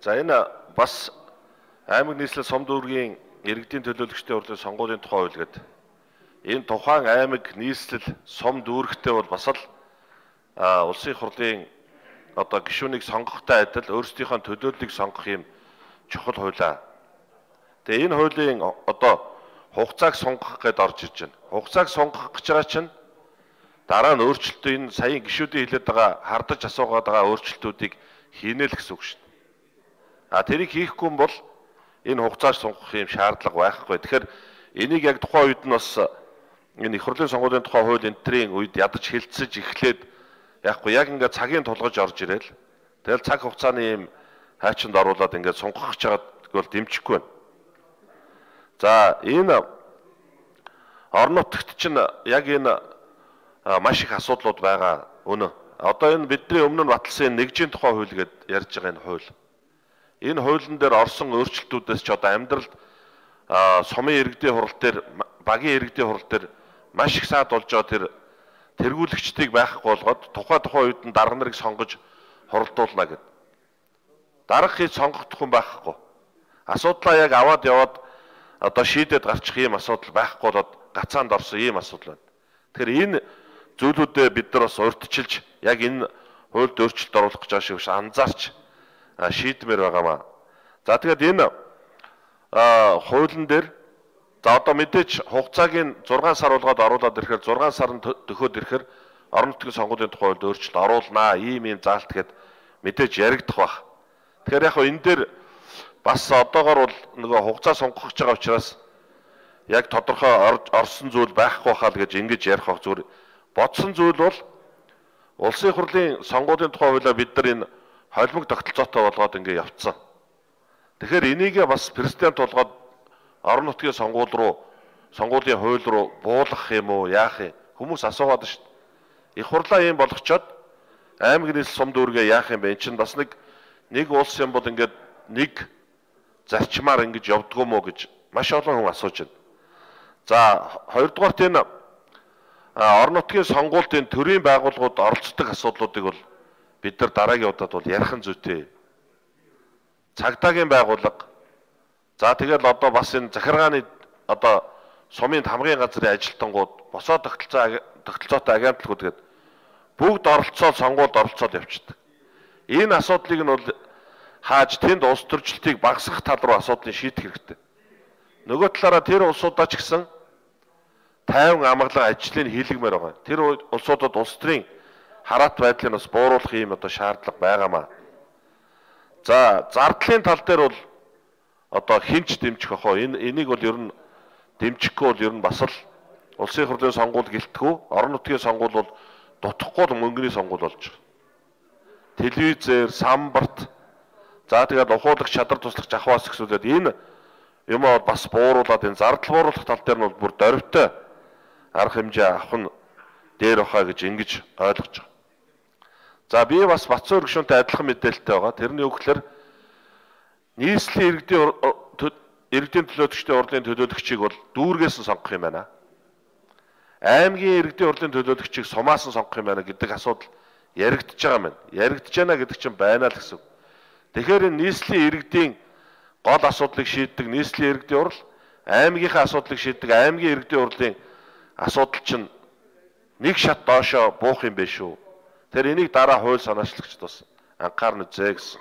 За энэ бас аймаг нийслэл сум дүүргийн иргэдийн төлөөлөгчдийн хурлын сонгуулийн тухай хууль гэдэг. Энэ тухайн аймаг нийслэл сум дүүрэгтэй бол бас л улсын хурлын одоо гишүүнийг сонгохтой адил өөрсдийнхөө төлөөллийг сонгох юм чухал хуулиа. Тэгээ энэ хуулийн одоо хугацааг сонгох гэдээ орж ирж байна. Хугацааг сонгох гэж байгаа чинь дараа нь өөрчлөлтөө энэ саяын гишүүдийн хэлээд байгаа хардаж асуугаад байгаа өөрчлөлтүүдийг хийнэ л гэсэн үг шүү дээ. Тэрийг хийхгүй юм бол энэ хугацааг сонгох юм шаардлага байхгүй. Тэгэхээр энийг яг тухайн үед нь бас энэ их хурлын сонгуулийн тухай хууль энтрийн үед ядаж хилцэж эхлээд яахгүй яг ингээд цагийн тулгаж орж ирээл. Тэгэл цаг хугацааны юм хайчинд оруулаад ингээд сонгох гэж байгаад бол дэмжихгүй байна. За энэ орон нутагт чинь яг энэ маш их асуудлууд байгаа үнэ. Одоо энэ бидний өмнө нь баталсан нэгжийн тухай хууль гэдээ ярьж байгаа энэ хууль. Энэ хуулийн дээр орсон өөрчлөлтүүдээс ч одоо амьдралд сумын иргэдийн хурал дээр багийн иргэдийн хурал дээр маш их саад болж байгаа тэр тэргүүлэгчдийг байхгүй болгоод тухайн үед нь дарга нарыг сонгож хуралдуулна гэд. Дарга хийж сонгохдох хүн байхгүй. Асуудлаа яг аваад яваад одоо шийдээд гарчих юм асуудал байхгүй болоод гацаанд орсон ийм асуудал байна. Тэгэхээр энэ зүйлүүдэд бид нар бас урьдчилж яг энэ хуульд өөрчлөлт оруулах гэж байгаа шиг анзаарч шийдмээр байгаамаа. За тэгээд энэ хуулийн дээр за одоо мэдээч хугацааг 6 сар болгоод оруулаад ирэхээр 6 сарын төхөөд ирэхээр орон нутгийн сонгуулийн тухай хуулинд өөрчлөлт оруулнаа. Ийм заалт гэд мэдээж яригдах бах. Тэгэхээр яг энэ дээр бас одоогор бол нөгөө хугацаа сонгох гэж байгаа учраас яг тодорхой орсон зүйл байхгүй хаа л гэж ингэж ярих баг зүгээр. Бодсон зүйл бол улсын хурлын сонгуулийн тухай хуулиа бид нар энэ холимог тогтолцоотой болгоод ингэ явцсан. Тэгэхээр энийгээ бас президент болгоод орон нутгийн сонгуулийн хууль руу буулгах юм уу яах юм хүмүүс асуугаад шүү дээ. Их хурлаа юм болгочоод аймаг нийслэл сум дүүргээ яах юм бэ? Энд чинь бас нэг улс юм бол ингээд нэг зарчмаар ингэж явдггүй мó гэж маш олон хүн асууж байна. За хоёрдугаарт энэ орон нутгийн сонгуулийн төрийн байгууллагууд оролцдог асуудлуудыг бол бид нар дараагийн удаад бол ярих нь зүйтэй. Цагдаагийн байгууллага. За тэгэл одоо бас энэ захиргааны одоо сумын хамгийн газрын ажилтнууд босоо тогтолцоотой агентлагууд гээд бүгд оролцоод сонгуульд оролцоод явчихдаг. Энэ асуудлыг нь бол хааж тэнд улс төрчлөлтийг багасгах тал руу асуудлыг шийдэх хэрэгтэй. Нөгөө талаараа тэр улсуудаа ч гэсэн тайван амгалан ажлыг хийлгэмээр байгаа. Тэр улсуудад улс төрийн хараат байдлыг бас бууруулах юм одоо шаардлага байгаамаа. За зардлын тал дээр бол одоо хинч дэмжих ах. Энийг бол ер нь дэмжихгүй бол ер нь бас л улсын хурлын сонгуул гэлтгүү, орон нутгийн сонгуул бол дутхгүй л мөнгөний сонгуул болж байгаа. Телевизээр, самбарт за тэгээд ухуулагч чадар туслах жахваас гэсүүлээд энэ юм бас бууруулаад энэ зардал бууруулах тал дээр нь бол бүр дөрвтэй арга хэмжээ авах нь дээр бахаа гэж ингэж ойлгож байгаа. За би бас Батцуур гишүүнтэй адилхан мэдээлэлтэй байгаа. Тэрний үгээр нийслэлийн иргэдийн төлөөлөгчдийн хурлын төлөөлөгчийг бол дүүргээс нь сонгох юм байна. Аймгийн иргэдийн хурлын төлөөлөгчийг сумаас нь сонгох юм байна гэдэг асуудал яригдж байгаа юм байна. Яригдж байна гэдэг чинь байна л гэсэн. Тэгэхээр энэ нийслэлийн иргэдийн гол асуудлыг шийддэг нийслэлийн иргэдийн хурл, аймгийнхаа асуудлыг шийддэг аймгийн иргэдийн хурлын асуудал чинь нэг шат доошоо буух юм биш үү? Тэр энийг дараа хууль санаачлагчд бас анхаарна үзье гэсэн.